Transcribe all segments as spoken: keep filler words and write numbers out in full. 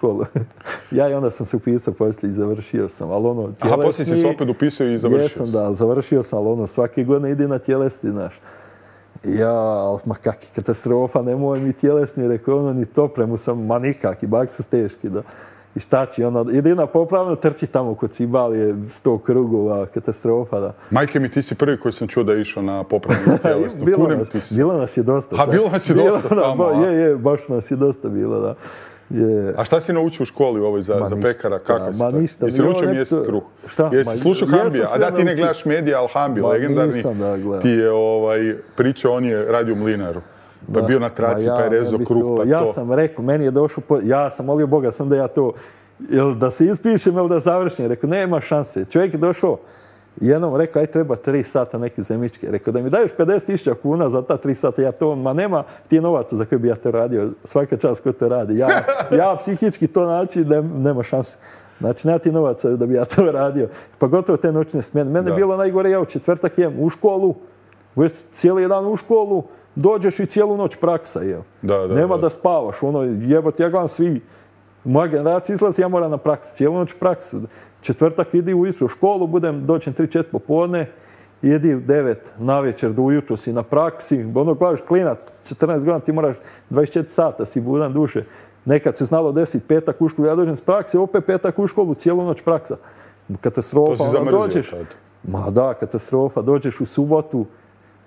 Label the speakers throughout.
Speaker 1: školu. Ja i onda sam se upisao poslije i završio sam, ali ono, tjelesni...
Speaker 2: Aha, poslije si se opet upisao i završio
Speaker 1: Jesam, da, ali završio sam, ali ono, svake godine ide na tjelesni, znaš. Ja, ali ma kakvi katastrofa, nemoj mi tjelesni, rekao, ono, ni topremu sam, ma nikakvi, bak su teški, da. I šta će, ono, jedina popravno trči tamo kod Cibalije, sto krugova, katastrofa, da.
Speaker 2: Majke mi, ti si prvi koji sam čuo da je išao na popravnu tjelesnu.
Speaker 1: bilo, nas, bilo nas je dosta.
Speaker 2: A bilo nas je dosta bilo, tamo,
Speaker 1: da, je, je, baš nas je dosta bilo, da. Je.
Speaker 2: A šta si naučio u školi ovoj za, za pekara? Kako si
Speaker 1: ma
Speaker 2: to?
Speaker 1: ništa.
Speaker 2: Jesi naučio mjesec kruh?
Speaker 1: Šta?
Speaker 2: Jesi slušao Hambija? A da, ti ne gledaš medija, ali Hambi, legendarni,
Speaker 1: da,
Speaker 2: ti je ovaj, pričao, on je radio u Mlinaru. Pa je bio na traci, ja, pa je rezao kruh,
Speaker 1: to,
Speaker 2: pa
Speaker 1: ja
Speaker 2: to.
Speaker 1: Ja sam rekao, meni je došao, po, ja sam molio Boga sam da ja to, jel da se ispišem ili da završim. Rekao, nema šanse. Čovjek je došao, jednom rekao, aj treba tri sata neke zemičke. Rekao, da mi daješ pedeset tisuća kuna za ta tri sata, ja to, ma nema ti novaca za koje bi ja to radio. Svaka čast ko to radi. Ja, ja psihički to naći, da nema šanse. Znači, nema ti novaca da bi ja to radio. Pa gotovo te noćne smjene. Mene je bilo najgore, ja u četvrtak jem u školu, cijeli dan u školu, dođeš i cijelu noć praksa, jel.
Speaker 2: Da, da,
Speaker 1: nema
Speaker 2: da.
Speaker 1: da spavaš, ono, jebote, ja gledam svi, moja generacija izlazi, ja moram na praksu, cijelu noć praksu. Četvrtak idi ujutro u školu, budem doćem tri četiri popodne, idi u devet na večer do ujutro si na praksi, ono gledaš klinac, četrnaest godina ti moraš dvadeset četiri sata si budan duše. Nekad se znalo deset, petak u školu, ja dođem s prakse, opet petak u školu, cijelu noć praksa. Katastrofa,
Speaker 2: to si
Speaker 1: ono, dođeš.
Speaker 2: Tad.
Speaker 1: Ma da, katastrofa, dođeš u subotu,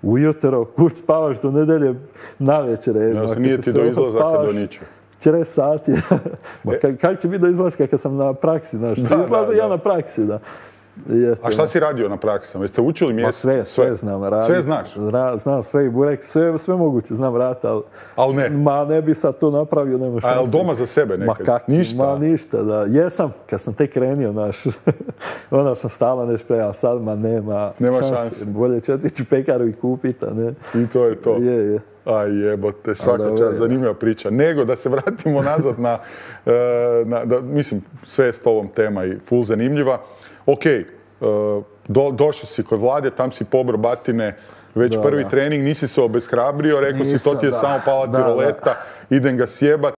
Speaker 1: ujutro, kud spavaš do nedelje na večer.
Speaker 2: Ja se nije ti do izlazaka do ničeg.
Speaker 1: četrdeset sati. Ma e? Kako će biti do izlaska kad sam na praksi, znaš? Da, izlaze da, ja da. na praksi, da. Jete,
Speaker 2: a šta si radio na praksama? Jeste učili mjesto?
Speaker 1: Sve, sve, sve znam raditi.
Speaker 2: Sve znaš?
Speaker 1: Ra, znam sve i burek, sve, sve moguće znam raditi, ali...
Speaker 2: Ali ne?
Speaker 1: Ma ne bi sad to napravio, nema šanse.
Speaker 2: A jel doma za sebe nekad?
Speaker 1: Ma kak,
Speaker 2: ništa?
Speaker 1: Ma ništa, da. Jesam, kad sam tek krenio, znaš, onda sam stala nešto pre, a sad ma nema,
Speaker 2: nema
Speaker 1: šanse.
Speaker 2: šanse.
Speaker 1: Bolje će otići u pekaru i kupiti, a ne.
Speaker 2: I to je to.
Speaker 1: Je, je.
Speaker 2: Aj jebote, svaka čast, zanimljiva priča. Nego da se vratimo nazad na, na da, mislim, sve je s tobom tema i full zanimljiva. Ok, do, došao si kod Vlade, tam si pobro batine, već da, prvi da. trening, nisi se obeshrabrio, rekao si to ti je da. samo pala tiroleta, idem ga sjebat.